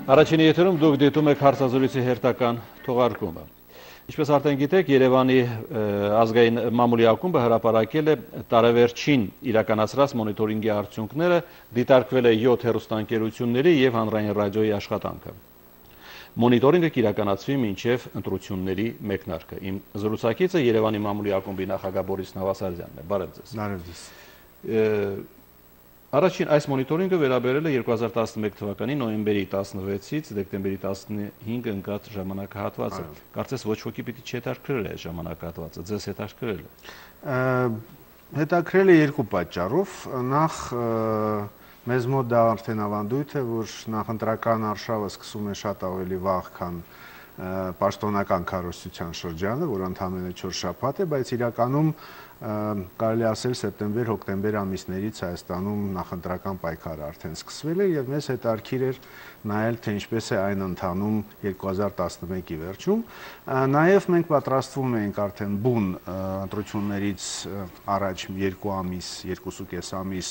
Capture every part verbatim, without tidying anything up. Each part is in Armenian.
Առաջին եթերում դուք դիտում եք հարցազրույցի հերթական թողարկումը։ Ինչպես արդեն գիտեք, Երևանի ազգային մամուլի ակումբը հրապարակել է տարեվերջին իրականացրած մոնիտորինգի արդյունքները, դիտարկվել է յոթ հեռուստաընկերությունների և հանրային ռադիոյի աշխատանքը։ Մոնիտորինգը կիրականացվի մինչև ընտրությունների մեկնարկը։ Իմ զրուցակիցը Երևանի մամուլի ակումբի նախագահ Բորիս Նավասարդյանն է։ Բարև ձեզ։ Բարև ձեզ։ Առաջին այս մոնիտորինգը վերաբերել է երկու հազար տասնմեկ թվականի նոյեմբերի տասնվեցից դեկտեմբերի տասնհինգ ընկած ժամանակահատվածը։ Կարծես ոչ ոքի պիտի չհետաքրքրել է այս ժամանակահատվածը, ձեզ հետաքրքրել է։ Հետաքրքրել է երկու պատճառով։ Նախ մեզ մոտ դա արդեն ավանդույթ է, որ նախընտրական արշավը սկսում է շատ ավելի վաղ, քան պաշտոնական քարոզչության շրջանը, որ ընդամենը չորս շաբաթ է, բայց իրականում կարելի ասել սեպտեմբեր-հոկտեմբեր ամիսներից Հայաստանում նախընտրական պայքարը արդեն սկսվել է եւ մեզ հետաքրքիր էր նայել, թե ինչպես է այն ընթանում երկու հազար տասնմեկի վերջում։ Նաեւ մենք պատրաստվում ենք արդեն բուն ընտրություններից առաջ երկու ամիս, երկուսուկես ամիս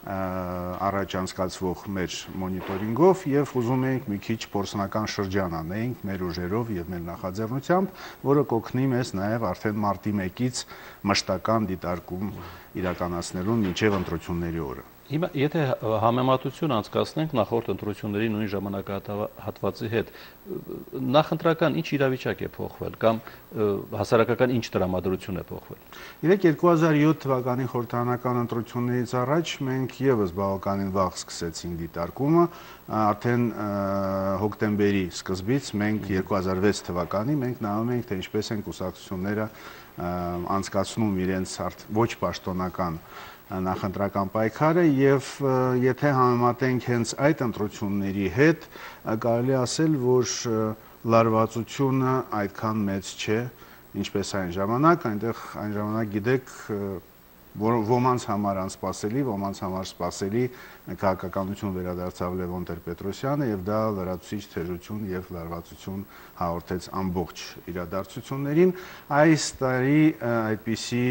առաջ անցկացվող մեր մոնիտորինգով եւ ուզում ենք մի քիչ փորձնական շրջան անենք մեր ուժերով եւ մեր նախաձեռնությամբ, որը կօգնի մեզ նաեւ արդեն մարտի մեկից մշտական դիտարկում իրականացնելու մինչեւ ընտրությունների օրը։ Հիմա եթե համեմատություն անցկացնենք նախորդ ընտրությունների նույն ժամանակահատվածի հետ, նախընտրական ինչ իրավիճակ է փոխվել կամ հասարակական ինչ տրամադրություն է փոխվել։ Իրեք երկու հազար յոթ թվականի խորհրդարանական ընտրություններից առաջ մենք եւս բավականին վաղ սկսեցինք դիտարկումը, արդեն հոկտեմբերի սկզբից մենք երկու հազար վեց թվականի մենք նայում ենք, թե ինչպես են կուսակցությունները անցկացնում իրենց ոչ պաշտոնական նախընտրական պայքարը եւ եթե համեմատենք հենց այդ ընտրությունների հետ, կարելի ասել, որ լարվածությունը այդքան մեծ չէ, ինչպես այն ժամանակ, այնտեղ այն ժամանակ գիտեք, ոմանց համար անսպասելի, ոմանց համար սպասելի քաղաքականություն վերադարձավ Լևոն Տեր-Պետրոսյանը եւ դա լրացուցիչ թեժություն եւ լարվածություն հաղորդեց ամբողջ իրադարձություններին։ Այս տարի այդպիսի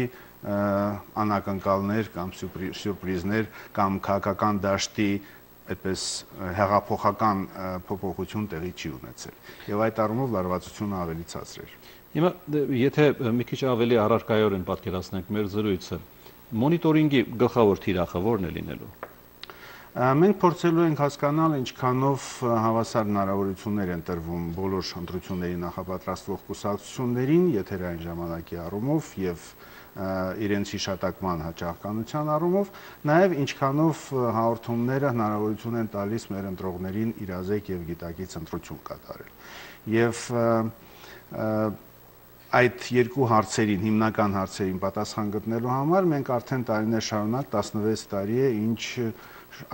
անակնկալներ կամ սյուրպրիզներ կամ քաղաքական դաշտի այդպես հեղափոխական փոփոխություն տեղի չի ունեցել եւ այդ առումով լարվածությունը ավելի ցածր էր։ Հիմա եթե մի քիչ ավելի առարկայորեն պատկերացնենք մեր զրույցը, մոնիտորինգի գլխավոր թիրախը ո՞րն է լինելու։ Մենք փորձելու ենք հասկանալ ինչքանով հավասար հնարավորություններ են տրվում բոլոր ընտրությունների նախապատրաստվող կուսակցություններին եթերային ժամանակի առումով եւ իրենց հիշատակման հաճախականության առումով, նաև ինչքանով հաղորդումները հնարավորություն են տալիս մեր ընտրողներին իրազեկ եւ գիտակից ընտրություն կատարել։ Եվ այդ երկու հարցերին, հիմնական հարցերին պատասխան գտնելու համար մենք արդեն տարիներ շարունակ տասնվեց տարի է, ինչ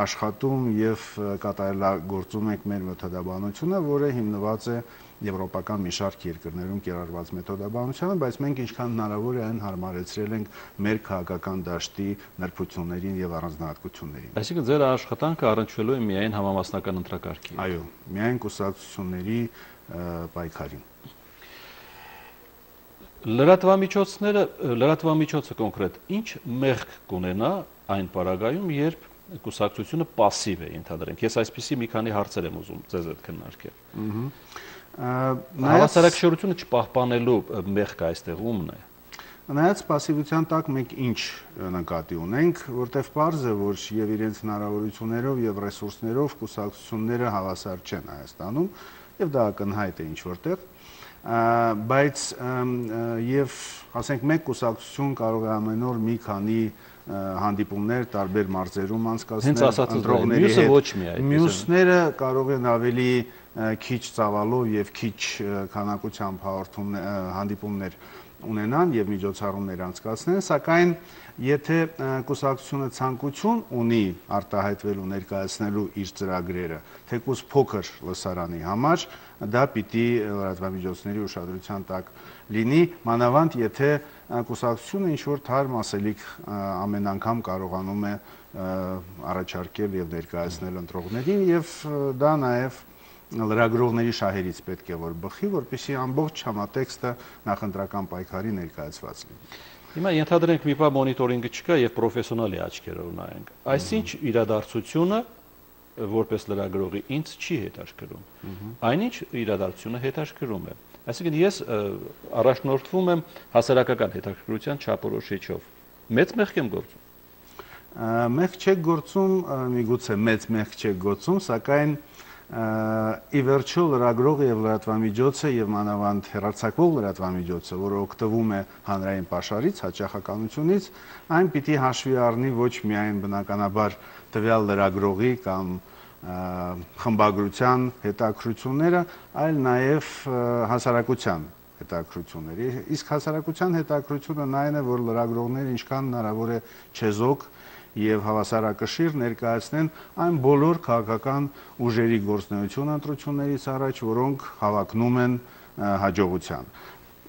աշխատում եւ կատարելագործում ենք մեր մեթոդաբանությունը, որը հիմնված է եվրոպական մի շարք երկրներում կիրառված մեթոդաբանությանը, բայց մենք ինչքան հնարավոր է այն հարմարեցրել ենք մեր քաղաքական դաշտի նրբություններին եւ առանձնահատկություններին։ Այսինքն ձեր աշխատանքը առնչվելու է միայն համամասնական ընտրակարգին։ Այո, միայն կուսակցությունների պայքարին։ Լրատվամիջոցները, լրատվամիջոցը կոնկրետ ինչ մեղք կունենա այն պարագայում, երբ կուսակցությունը պասիվ է ընդհանրենք։ Ես այսպիսի մի քանի հարցեր եմ ուզում ձեզ հետ քննարկել։ Հավասարակշռությունը չպահպանելու մեղքը այստեղ ումն է։ Նայած պասիվության տակ մենք ինչ նկատի ունենք, որտեղ պարզ է, որ եւ իրենց հնարավորություններով եւ ռեսուրսներով կուսակցությունները հավասար չեն Հայաստանում եւ դա ակնհայտ է ինչ որտեղ, բայց եւ ասենք մեկ կուսակցություն կարող է ամեն օր մի քանի հանդիպումներ տարբեր մարզերում անցկացնել ընտրողների հետ։ Մյուսները կարող են ավելի քիչ ծավալով եւ քիչ քանակությամբ հաղորդումներ հանդիպումներ ունենան եւ միջոցառումներ անցկացնեն, սակայն եթե կուսակցությունը ցանկություն ունի արտահայտվելու ներկայացնելու իր ծրագրերը, թեկուզ փոքր լսարանի համար, դա պիտի լրատվամիջոցների ուշադրության տակ լինի, մանավանդ եթե կուսակցությունը ինչ որ թարմ ասելիք ամեն անգամ կարողանում է առաջարկել եւ ներկայացնել ընտրողներին եւ դա նաեւ լրագրողների շահերից պետք է որ բխի, որպեսզի ամբողջ համատեքստը նախընտրական պայքարի ներկայացված լինի։ Հիմա ենթադրենք մի բան մոնիտորինգը չկա եւ պրոֆեսիոնալի աչքերով նայենք։ Այսինչ իրադարձությունը որպես լրագրողի ինձ չի հետաքրքրում։ Այնինչ իրադարձությունը հետաքրքրում է։ Այսինքն ես առաջնորդվում եմ հասարակական հետաքրքրության չափորոշիչով։ Մեծ մեղք եմ գործում։ Մեղք չեք գործում, միգուցե մեծ մեղք չեք գործում, սակայն ի վերջո լրագրողը եւ լրատվամիջոցը եւ մանավանդ հեռարձակվող լրատվամիջոցը, որը օգտվում է հանրային պաշարից, հաճախականությունից, այն պիտի հաշվի առնի ոչ միայն բնականաբար տվյալ լրագրողի կամ խմբագրության հետաքրությունները, այլ նաև հասարակության հետաքրությունները։ Իսկ հասարակության հետաքրությունը նայն է, որ լրագրողները ինչքան հնարավոր է չեզոք եւ հավասարակշիռ ներկայացնեն այն բոլոր քաղաքական ուժերի գործունեությունը ընտրություններից առաջ, որոնք հավակնում են հաջողության։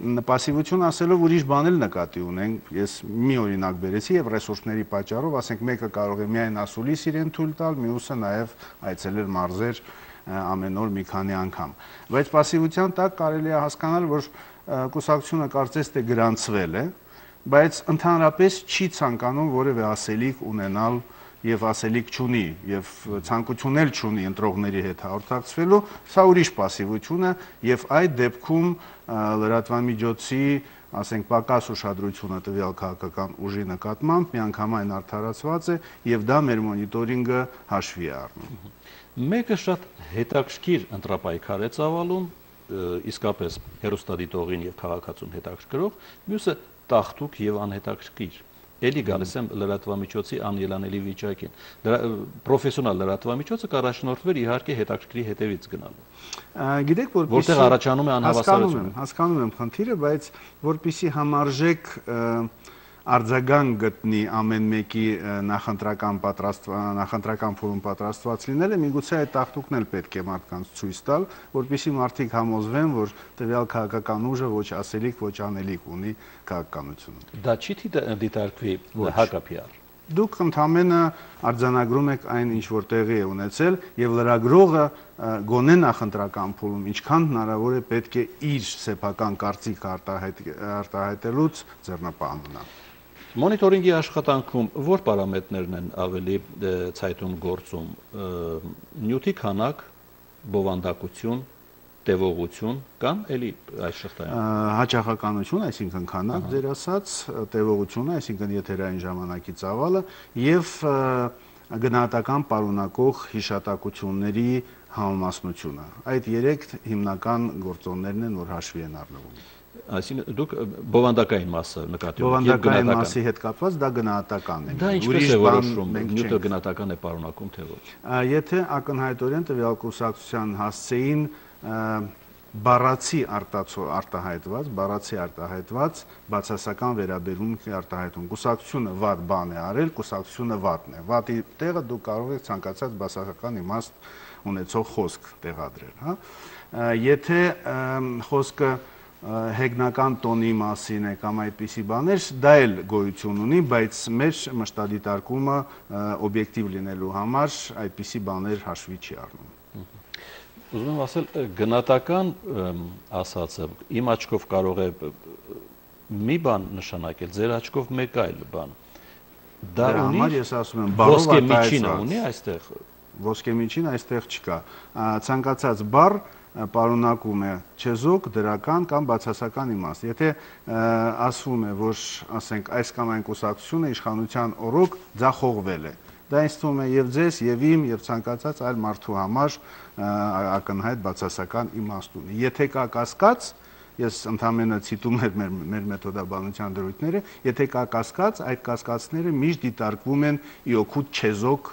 Պասիվություն ասելով ուրիշ բան էլ նկատի ունենք, ես մի օրինակ բերեցի եւ ռեսուրսների պատճառով, ասենք մեկը կարող է միայն ասուլիս իրեն թույլ տալ, մյուսը նաեւ այցելել մարզեր ամեն օր մի քանի անգամ։ Բայց պասիվության տակ կարելի է հասկանալ, որ կուսակցությունը կարծես թե գրանցվել է, բայց ընդհանրապես չի ցանկանում որևէ ասելիք ունենալ եւ ասելիք չունի եւ ցանկություն էլ չունի ընտրողների հետ հաղորդակցվելու, սա ուրիշ պասիվություն է եւ այդ դեպքում լրատվամիջոցի, ասենք, պակաս ուշադրությունը տվյալ քաղաքական ուժի նկատմամբ միանգամայն արդարացված է եւ դա մեր մոնիտորինգը հաշվի է առնում։ Մեկը շատ հետաքրքիր ընտրապայքար է ծավալում, իսկապես հեռուստադիտողին եւ քաղաքացուն հետաքրքրող, մյուսը տախտուկ եւ անհետաքրքիր։ Էլի գալիս եմ լրատվամիջոցի անելանելի վիճակին։ Պրոֆեսիոնալ լրատվամիջոցը կառաջնորդվեր իհարկե հետաքրքրի հետևից գնալու։ Գիտեք, որպեսզի որտեղ առաջանում է անհավասարությունը։ Հասկանում եմ խնդիրը, բայց որպեսզի համարժեք արձագանք գտնի ամեն մեկի նախընտրական նախընտրական փորում պատրաստված լինելը, միգուցե այդ տախտուկն էլ պետք է մարդկանց ցույց տալ, որպեսզի մարդիկ համոզվեն, որ տվյալ քաղաքական ուժը ոչ ասելիք, ոչ անելիք ունի քաղաքականությունը։ Դա չի դիտարկվի հակապիար։ Դուք ընդամենը արձանագրում եք այն, ինչ որ տեղի է ունեցել, եւ լրագրողը գոնե նախընտրական փուլում ինչքան հնարավոր է պետք է իր սեփական կարծիք արտահայտելուց ձեռնպահ մնա։ Մոնիտորինգի աշխատանքում որ պարամետրներն են ավելի ցայտուն գործում՝ նյութի քանակ, բովանդակություն, տևողություն կամ էլի այս շղթայում։ Հաճախականություն, այսինքն քանակ, ձեր ասած, տևողությունը, այսինքն եթերային ժամանակի ծավալը եւ գնահատական պարունակող հիշատակությունների համամասնությունը։ Այդ երեք հիմնական գործոններն են, որ հաշվի են առնվում։ Այսինքն դուք բովանդակային մասը նկատի ունեք։ Բովանդակային մասի հետ կապված դա գնահատական է։ Դա ինչպես է որոշվում, նյութը գնահատական է պարունակում թե ոչ։ Եթե ակնհայտորեն տվյալ կուսակցության հասցեին բառացի արտահայտված, բառացի արտահայտված բացասական վերաբերմունք է արտահայտում։ Կուսակցությունը վատ բան է արել, կուսակցությունը վատն է։ Վատի տեղը դուք կարող եք ցանկացած բացասական իմաստ ունեցող խոսք տեղադրել, հա։ Եթե խոսքը հեգնական տոնի մասին է կամ այդպիսի բաներ, դա էլ գոյություն ունի, բայց մեր մշտադիտարկումը օբյեկտիվ լինելու համար այդպիսի բաներ հաշվի չի առնում։ Ուզում եմ ասել, գնահատական ասածը իմ աչքով կարող է մի բան նշանակել, ձեր աչքով մեկ այլ բան։ Դա ունի, ես ասում եմ, բառով ոսկե միջինը ունի այստեղ։ Ոսկե միջին այստեղ չկա։ Ցանկացած բառ պարունակում է չեզոք, դրական կամ բացասական իմաստ։ Եթե ասվում է, որ ասենք այս կամ այն կուսակցությունը իշխանության օրոք ձախողվել է, դա ինձ թվում է եւ ձեզ, եւ իմ, եւ ցանկացած այլ մարդու համար ակնհայտ բացասական իմաստ ունի։ Եթե կա կասկած, ես ընդհանրապես ցիտում եմ մեր մեր մեթոդաբանության դրույթները, եթե կա կասկած, այդ կասկածները միշտ դիտարկվում են ի օգուտ չեզոք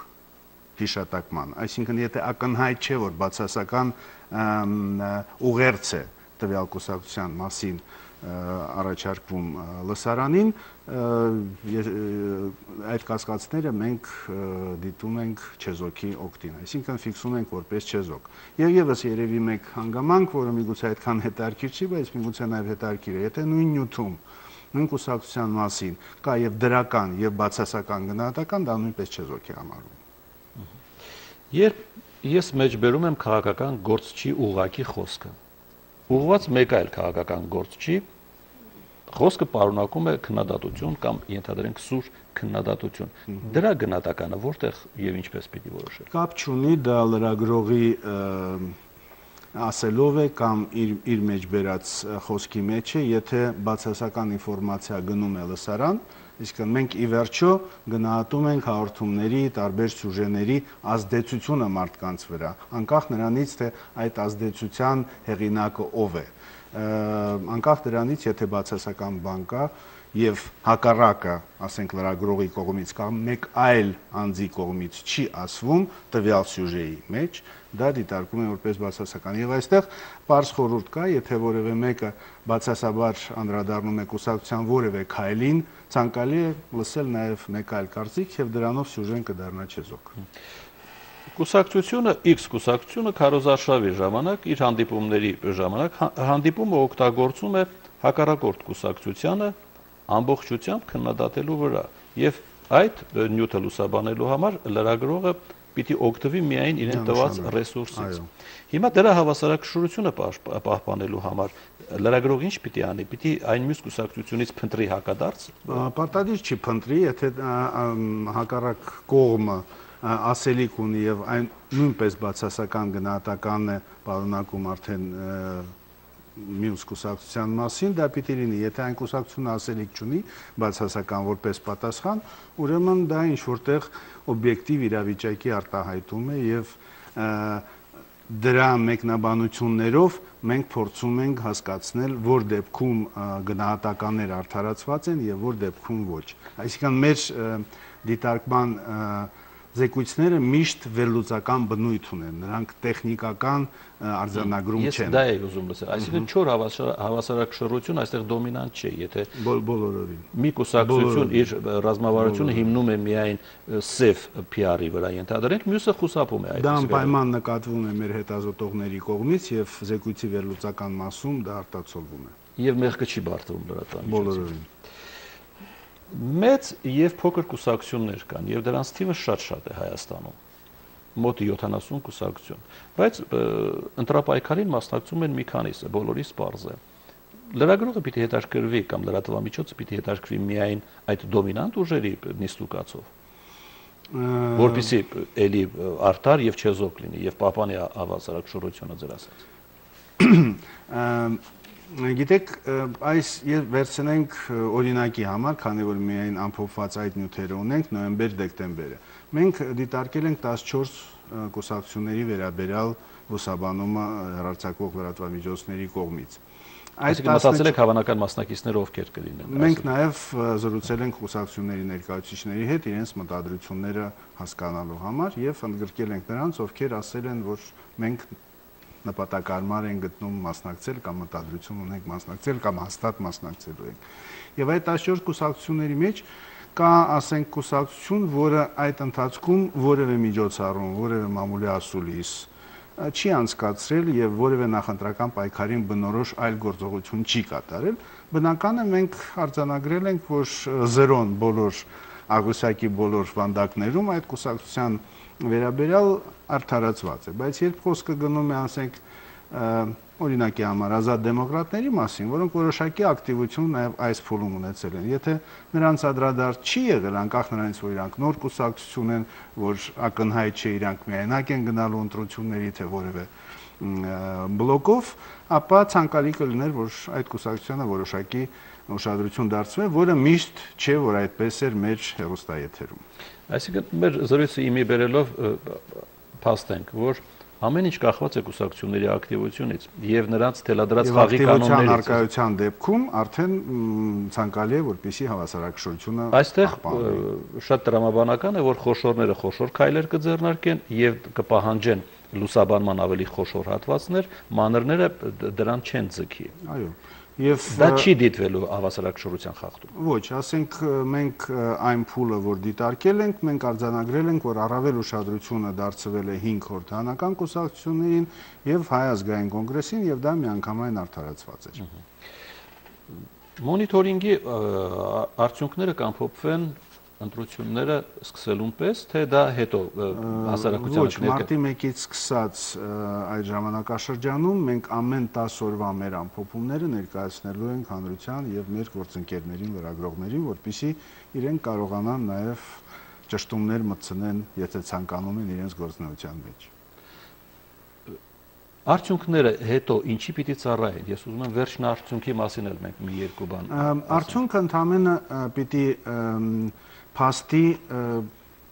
հիշատակման։ Այսինքն, եթե ակնհայտ չէ, որ բացասական ուղերձ է տվյալ կուսակցության մասին առաջարկվում լսարանին, այդ կասկածները մենք դիտում ենք չեզոքի օգտին, այսինքն ֆիքսում ենք որպես չեզոք։ Եվ եւս երևի մեկ հանգամանք, որը միգուցե այդքան հետաքրքիր չի, բայց միգուցե նաեւ հետաքրքիր է, եթե նույն նյութում, նույն կուսակցության մասին կա եւ դրական եւ բացասական գնահատական, դա նույնպես չեզոք է համարվում։ Երբ ես մեջբերում եմ քաղաքական գործչի ուղղակի խոսքը, ուղղված մեկ այլ քաղաքական գործչի, Խոսքը պարունակում է քննադատություն կամ ենթադրենք սուր քննադատություն։ Դրա գնահատականը որտեղ եւ ինչպես պիտի որոշել։ Կապ չունի դա լրագրողի ասելով է կամ իր իր մեջ բերած խոսքի մեջ է, եթե բացասական ինֆորմացիա գնում է լսարան, իսկ մենք ի վերջո գնահատում ենք հաղորդումների, տարբեր սյուժեների ազդեցությունը մարդկանց վրա, անկախ նրանից, թե այդ ազդեցության հեղինակը ով է։ Անկախ դրանից, եթե բացասական բան կա եւ հակառակը, ասենք լրագրողի կողմից կամ մեկ այլ անձի կողմից չի ասվում տվյալ սյուժեի մեջ, դա դիտարկում է որպես բացասական։ Եվ այստեղ պարզ խորհուրդ կա, եթե որևէ մեկը բացասաբար անդրադառնում է կուսակցության որևէ քայլին, ցանկալի է լսել նաեւ մեկ այլ կարծիք եւ դրանով սյուժեն կդառնա չեզոք։ Կուսակցությունը X կուսակցությունը քարոզարշավի ժամանակ իր հանդիպումների ժամանակ հանդիպումը օգտագործում է հակառակորդ կուսակցությանը ամբողջությամբ քննադատելու վրա եւ այդ նյութը լուսաբանելու համար լրագրողը պիտի օգտվի միայն իրեն տված ռեսուրսից։ Հիմա դրա հավասարակշռությունը պահպանելու համար լրագրողը ինչ պիտի անի, պիտի այն մյուս կուսակցությունից փնտրի հակադարձ։ Պարտադիր չի փնտրի, եթե հակառակ կողմը ասելիք ունի եւ այն նույնպես բացասական գնահատական է պարունակում արդեն մյուս կուսակցության մասին, դա պիտի լինի, եթե այն կուսակցությունը ասելիք չունի բացասական որպես պատասխան, ուրեմն դա ինչ որտեղ օբյեկտիվ իրավիճակի արտահայտում է եւ դրա մեկնաբանություններով մենք փորձում ենք հասկացնել, որ դեպքում գնահատականներ արդարացված են եւ որ դեպքում ոչ։ Այսինքն մեր դիտարկման զեկույցները միշտ վերլուծական բնույթ ունեն, նրանք տեխնիկական արձանագրում չեն։ Ես դա եի ուզում լսել, այսինքն չոր հավասարակշռություն այստեղ դոմինանտ չէ, եթե բոլորովին մի կուսակցություն իր ռազմավարությունը հիմնում է միայն սև P R-ի վրա, ենթադրենք, մյուսը խուսափում է այդ։ Դա անպայման նկատվում է մեր հետազոտողների կողմից եւ զեկույցի վերլուծական մասում դա արտացոլվում է։ Եվ մեղքը չի բարդվում լրատվամիջոցին։ Բոլորովին։ Մեծ եւ փոքր կուսակցություններ կան եւ դրանց թիվը շատ-շատ է Հայաստանում։ Մոտ յոթանասուն կուսակցություն, բայց ընտրապայքարին մասնակցում են մի քանիսը, բոլորիս պարզ է։ Լրագրողը պիտի հետաքրքրվի կամ լրատվամիջոցը պիտի հետաքրքրվի միայն այդ դոմինանտ ուժերի նիստուկացով, որպեսզի էլի արդար եւ չեզոք լինի եւ պահպանի հավասարակշռությունը ձեր ասած։ Գիտեք, այս եւ վերցնենք օրինակի համար, քանի որ միայն ամփոփված այդ նյութերը ունենք նոյեմբեր-դեկտեմբերը։ Մենք դիտարկել ենք տասնչորս կուսակցությունների վերաբերյալ լուսաբանումը հեռարձակվող լրատվամիջոցների կողմից։ Այսինքն մտածել եք հավանական մասնակիցները ովքեր կլինեն։ Մենք նաեւ զրուցել ենք կուսակցությունների ներկայացուցիչների հետ իրենց մտադրությունները հասկանալու համար եւ ընդգրկել ենք նրանց, ովքեր ասել են, որ մենք նպատակարար են գտնում մասնակցել կամ մտադրություն ունենք մասնակցել կամ հաստատ մասնակցելու ենք։ Եվ այդ տասնչորս կուսակցությունների մեջ կա, ասենք, կուսակցություն, որը այդ ընթացքում որևէ միջոցառում, որևէ մամուլի ասուլիս չի անցկացրել եւ որևէ նախընտրական պայքարին բնորոշ այլ գործողություն չի կատարել։ Բնական է մենք արձանագրել ենք, որ զերոն բոլոր աղյուսակի բոլոր վանդակներում այդ կուսակցության վերաբերյալ արդարացված է, բայց երբ խոսքը գնում է, ասենք, օրինակի համար ազատ դեմոկրատների մասին, որոնք որոշակի ակտիվություն նաև այս փուլում ունեցել են, եթե նրանց անդրադարձ չի եղել, անկախ նրանից, որ իրանք նոր կուսակցություն են, որ ակնհայտ չէ իրանք միայնակ են գնալու ընտրությունների, թե որևէ բլոկով, ապա ցանկալի կլիներ, որ այդ կուսակցությանը որոշակի ուշադրություն դարձվի, որը միշտ չէ, որ այդպես էր մեր հեռուստաեթերում։ Այսինքն մեր զրույցը իմի բերելով փաստենք, որ ամեն ինչ կախված է կուսակցությունների ակտիվությունից եւ նրանց թելադրած խաղի կանոններից։ Ակտիվության արկայության դեպքում արդեն ցանկալի է, որպեսզի հավասարակշռությունը այստեղ շատ տրամաբանական է, որ խոշորները խոշոր քայլեր կձեռնարկեն եւ կպահանջեն լուսաբանման ավելի խոշոր հատվածներ, մանրները դրան չեն ձգի։ Այո։ Եվ դա չի դիտվելու հավասարակշռության խախտում։ Ոչ, ասենք մենք այն փուլը, որ դիտարկել ենք, մենք արձանագրել ենք, որ առավել ուշադրությունը դարձվել է հինգ խորհրդանական կուսակցություններին եւ Հայ ազգային կոնգրեսին եւ դա միանգամայն արդարացված էր։ Մոնիտորինգի արդյունքները կամփոփվեն ընտրությունները սկսելուն պես, թե դա հետո հասարակության Ոչ, մարտի մեկից սկսած այդ ժամանակաշրջանում մենք ամեն տասը օրվա մեր ամփոփումները ներկայացնելու ենք հանրության եւ մեր գործընկերներին, լրագրողներին, որպեսզի իրենք կարողանան նաեւ ճշտումներ մտցնեն, եթե ցանկանում են իրենց գործունեության մեջ։ Արդյունքները հետո ինչի պիտի ծառայեն։ Ես ուզում եմ վերջին արդյունքի մասին էլ մենք մի երկու բան։ Արդյունքը ընդհանրապես պիտի փաստի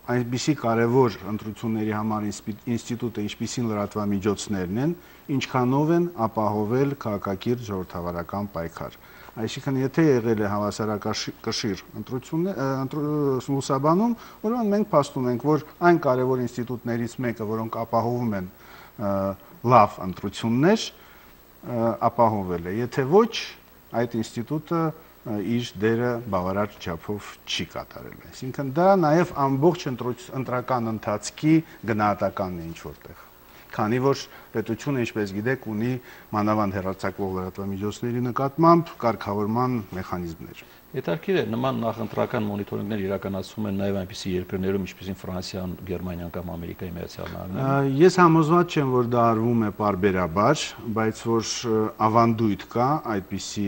այնպիսի կարևոր ընտրությունների համար ինստիտուտը, ինչպիսին լրատվամիջոցներն են, ինչքանով են ապահովել քաղաքակիրթ ժողովրդավարական պայքար։ Այսինքն, եթե եղել է հավասարակշիռ ընտրություններ լուսաբանում, ուրեմն մենք փաստում ենք, որ այն կարևոր ինստիտուտներից մեկը, որոնք ապահովում են լավ ընտրություններ, ապահովել է։ Եթե ոչ, այդ ինստիտուտը իր դերը բավարար չափով չի կատարել։ Այսինքն դա նաև ամբողջ ընտրական ընթացքի գնահատականն է ինչ որտեղ։ Քանի որ պետությունը, ինչպես գիտեք, ունի մանավանդ հեռարձակվող լրատվամիջոցների նկատմամբ կարգավորման մեխանիզմներ։ Հետաքրքիր է, նման նախընտրական մոնիտորինգներ իրականացվում են նաև այնպիսի երկրներում, ինչպիսին Ֆրանսիան, Գերմանիան կամ Ամերիկայի Միացյալ Նահանգները։ Ես համոզված չեմ, որ դա արվում է պարբերաբար, բայց որ ավանդույթ կա այդպիսի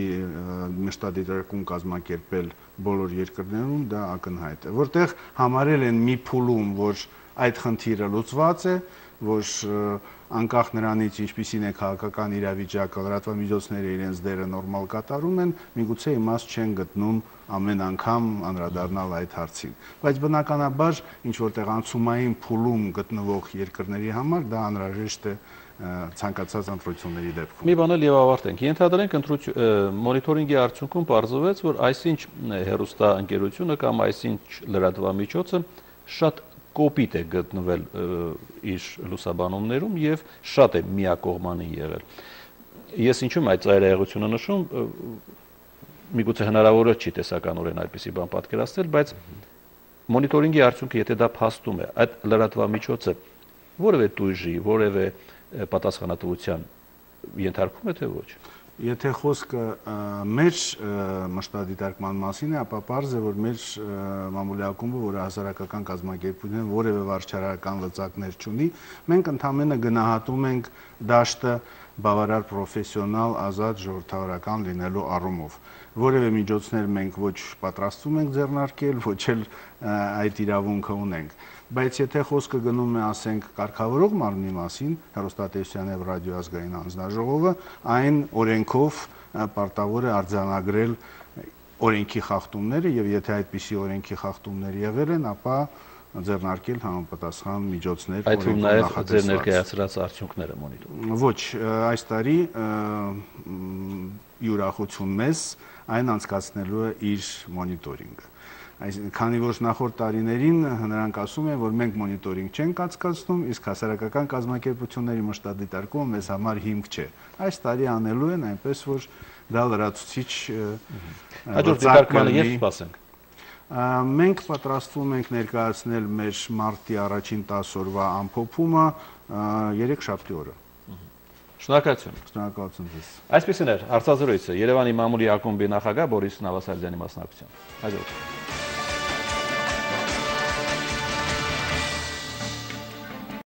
մշտադիտարկում կազմակերպել բոլոր երկրներում, դա ակնհայտ է, որտեղ համարել են մի փուլում, որ այդ խնդիրը լուծված է, որ անկախ նրանից ինչպիսին է քաղաքական իրավիճակը, լրատվամիջոցները իրենց դերը նորմալ կատարում են, միգուցե իմաստ չեն գտնում ամեն անգամ անդրադառնալ այդ հարցին։ Բայց բնականաբար ինչ որտեղ անցումային փուլում գտնվող երկրների համար դա անհրաժեշտ է ցանկացած ընտրությունների դեպքում։ Մի բան էլ եւ ավարտենք։ Ենթադրենք մոնիտորինգի արդյունքում պարզվեց, որ այսինչ հեռուստաընկերությունը կամ այսինչ լրատվամիջոցը շատ կոպիտ է գտնվել իր լուսաբանումներում եւ շատ է միակողմանի եղել։ Ես ինչու՞մ այդ ծայրահեղությունը նշում, միգուցե հնարավոր չի տեսականորեն այդպիսի բան պատկերացնել, բայց մոնիտորինգի արդյունքը, եթե դա փաստում է, այդ լրատվամիջոցը որևէ տույժի, որևէ պատասխանատվության ենթարկվում է, թե ոչ։ Եթե խոսքը մեր մշտադիտարկման մասին է, ապա պարզ է, որ մեր մամուլի ակումբը, որը հասարակական կազմակերպություն է, որևէ վարչարական լծակներ չունի, մենք ընդհանրապես գնահատում ենք դաշտը բավարար պրոֆեսիոնալ, ազատ, ժողովրդավարական լինելու առումով։ Որևէ միջոցներ մենք ոչ պատրաստվում ենք ձեռնարկել, ոչ էլ այդ իրավունքը ունենք։ Բայց եթե խոսքը գնում է, ասենք, կարգավորող մարմնի մասին, հեռուստատեսության եւ ռադիոազգային հանձնաժողովը, այն օրենքով պարտավոր է արձանագրել օրենքի խախտումները եւ եթե այդպիսի օրենքի խախտումներ եղել են, ապա ձեռնարկել համապատասխան միջոցներ։ Այդ թվում նաեւ ձեր ներկայացրած արդյունքները մոնիտորինգ։ Ոչ, այս տարի յուրախություն մեզ այն անցկացնելու է իր մոնիտորինգը։ Քանի որ նախորդ տարիներին նրանք ասում են, որ մենք մոնիտորինգ չենք անցկացնում, իսկ հասարակական կազմակերպությունների մշտադիտարկումը մեզ համար հիմք չէ։ Այս տարի անելու են այնպես, որ դա լրացուցիչ հաջորդ դիտարկմանը երբ սպասենք։ Մենք պատրաստվում ենք ներկայացնել մեր մարտի առաջին տասը օրվա ամփոփումը երեքշաբթի օրը։ Շնորհակալություն։ Շնորհակալություն ձեզ։ Այսպեսին էր հարցազրույցը Երևանի մամուլի ակումբի նախագահ Բորիս Նավասարդյանի մասնակցությամբ։ Հաջորդ